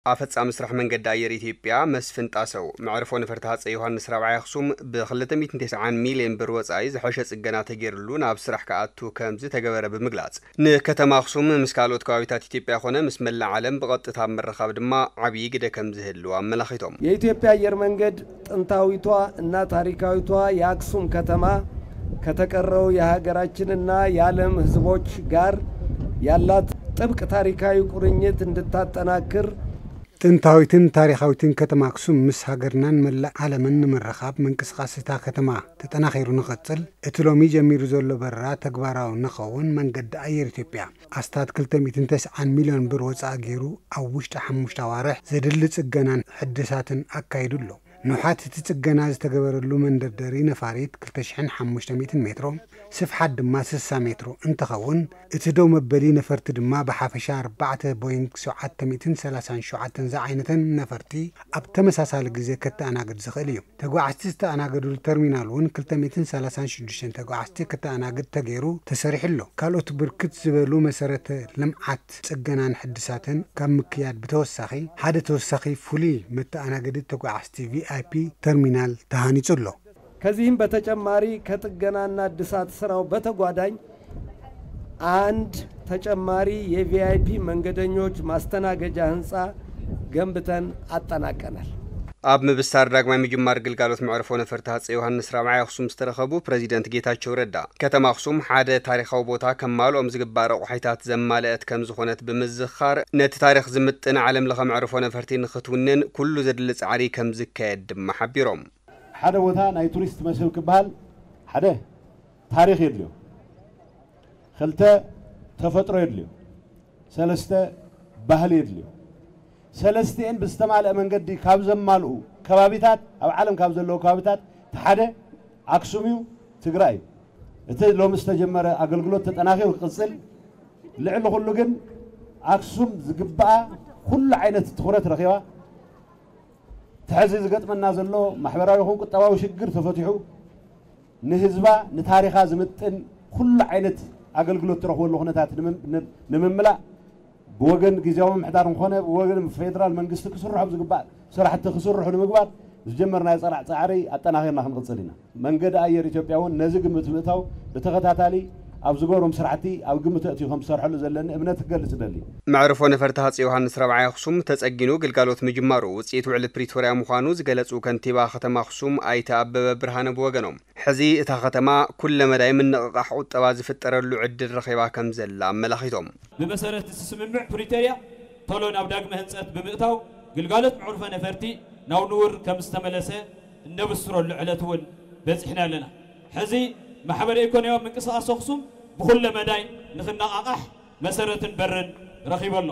ኣፈጻሚ ስራሕ መንገዲ ኣየር ኢትዮጵያ መስፍን ጣሰው፣ መዕርፎ ነፈርቲ ሃፀይ ዮሃንስ ራብዓይ ኣኽሱም ብ ክልተ ሚእትን ተስዓን ሚልዮን ብር ወጻኢ ዝሐሸ ጽገና ተገይርሉ ናብ ስራሕ ክኣቱ ከም ዝተገበረ ብምግላጽ፣ ንከተማ ኣኽሱም ምስ ካልኦት ከባቢታት ኢትዮጵያ ኮነ ምስ መላእ ዓለም ብቐጥታ ኣብ ምርኻብ ድማ ዓብዪ ግደ ከም ዝህልዎ ኣመላኺቶም። የኢትዮጵያ አየር መንገድ ጥንታዊቷ እና ታሪካዊቷ የአክሱም ከተማ ከተቀረው የሀገራችንና የዓለም ህዝቦች ጋር ያላት ጥብቅ ታሪካዊ ቁርኝት እንድታጠናክር ጥንታዊትን ታሪኻዊትን ከተማ ኣክሱም ምስ ሃገርናን መላእ ዓለምን ንምርኻብ ምንቅስቃስ እታ ከተማ ተጠናኺሩ ንኸጽል እቲ ሎሚ ጀሚሩ ዘሎ በረራ ተግባራዊ ንኸውን መንገዲ ኣየር ኢትዮጵያ ኣስታት ክልተ ሚእትን ተስዓን ሚልዮን ብር ወጻኢ ገይሩ ኣብ ውሽጢ ሓሙሽተ ኣዋርሕ ዘድሊ ጽገናን ሕድሳትን ኣካይዱ ኣሎ። ንውሓት እቲ ጽገና ዝተገበረሉ መንደርደሪ ነፋሪት ክልተ ሽሕን ሓሙሽተ ሚእትን ሜትሮ፣ ስፍሓት ድማ ስሳ ሜትሮ እንትኸውን፣ እቲ ደው መበሊ ነፈርቲ ድማ ብሓፈሻ ኣርባዕተ ቦይንግ ሸውዓተ ሚእትን ሰላሳን ሸውዓተን ዝዓይነተን ነፈርቲ ኣብ ተመሳሳሊ ግዜ ከተኣናግድ ዝኽእል እዩ። ተጓዓዝቲ ዝተኣናገድሉ ተርሚናል እውን ክልተ ሚእትን ሰላሳን ሽዱሽተን ተጓዓዝቲ ከተኣናግድ ተገይሩ ተሰሪሑ ኣሎ። ካልኦት ብርክት ዝበሉ መሰረተ ልምዓት ጽገናን ሕድሳትን ካብ ምክያድ ብተወሳኺ፣ ሓደ ተወሳኺ ፍሉይ መተኣናገዲ ተጓዓዝቲ ቪኣይፒ ተርሚናል ተሃኒጹ ኣሎ። ከዚህም በተጨማሪ ከጥገናና እድሳት ስራው በተጓዳኝ አንድ ተጨማሪ የቪአይፒ መንገደኞች ማስተናገጃ ህንፃ ገንብተን አጠናቀናል። ኣብ ምብሳር ዳግማይ ምጅማር ግልጋሎት መዕርፎ ነፈርቲ ሃፀይ ዮሃንስ ራብዓይ ኣኽሱም ዝተረኸቡ ፕረዚደንት ጌታቸው ረዳ፣ ከተማ ኣኽሱም ሓደ ታሪኻዊ ቦታ ከማልኦም ዝግባእ ረቑሒታት ዘማልአት ከም ዝኾነት ብምዝኻር፣ ነቲ ታሪኽ ዝምጥን ዓለም ለኸ መዕርፎ ነፈርቲ ንኽትውንን ኩሉ ዘድሊ ጻዕሪ ከም ዝካየድ ድማ ሓቢሮም። ሓደ ቦታ ናይ ቱሪስት መስህብ ክበሃል ሓደ ታሪኽ የድልዮ፣ ክልተ ተፈጥሮ የድልዮ፣ ሰለስተ ባህሊ የድልዮ። ሰለስቲኤን ብዝተማልአ መንገዲ ካብ ዘማልኡ ከባቢታት፣ ኣብ ዓለም ካብ ዘለዉ ከባቢታት እቲ ሓደ ኣክሱም እዩ፣ ትግራይ እዩ። እቲ ሎሚ ዝተጀመረ ኣገልግሎት ተጠናኺሩ ክቕፅል፣ ልዕሊ ኩሉ ግን ኣክሱም ዝግብኣ ኩሉ ዓይነት ትኹረት ረኺባ፣ እቲ ሕዚ ዝገጥመና ዘሎ ማሕበራዊ ይኹን ቁጠባዊ ሽግር ተፈቲሑ፣ ንህዝባ ንታሪኻ ዝምጥን ኩሉ ዓይነት ኣገልግሎት ትረኽበሉ ኩነታት ንምም-፣ ንም-፣ ንምምላእ ብወገን ግዝያዊ ምምሕዳር እንኾነ ብወገን ፌደራል መንግስቲ ክስርሖም ዝግባእ ስራሕቲ ክስርሑ ንምግባር ዝጀመርናዮ ፀላዕ ፃዕሪ ኣጠናኺርና ክንቕፅል ኢና። መንገዲ ኣየር ኢትዮጵያ እውን ነዚ ግምት ብምእታው ብተኸታታሊ ኣብ ዝገብሮም ስራሕቲ ኣብ ግምት ኣእትዩ ከም ዝሰርሐሉ ዘለኒ እምነት ክገልፅ እደሊ። መዕርፎ ነፈርቲ ሃፀይ ዮሃንስ ራብዓይ ኣኽሱም ተፀጊኑ ግልጋሎት ምጅማሩ ውፅኢት ውዕሊ ፕሪቶርያ ምዃኑ ዝገለፁ ከንቲባ ከተማ ኣኽሱም ኣይተ ኣበበ ብርሃነ ብወገኖም፣ ሕዚ እታ ከተማ ኩለመዳይ ምንቕቓሕ ቁጠባ ዝፍጠረሉ ዕድል ረኺባ ከም ዘላ ኣመላኺቶም። ብመሰረት እቲ ስምምዕ ፕሪቶርያ ቶሎ ናብ ዳግመ ህንፀት ብምእታው ግልጋሎት መዕርፎ ነፈርቲ ናብ ንቡር ከም ዝተመለሰ እነብስረሉ ዕለት እውን በፂሕና ኣለና። ሕዚ ማሕበረ ኢኮኖሚያዊ ምንቅስቓስ ኣኽሱም ብኩለ መዳይ ንክነቓቓሕ መሰረትን በርን ረኺቡ ኣሎ።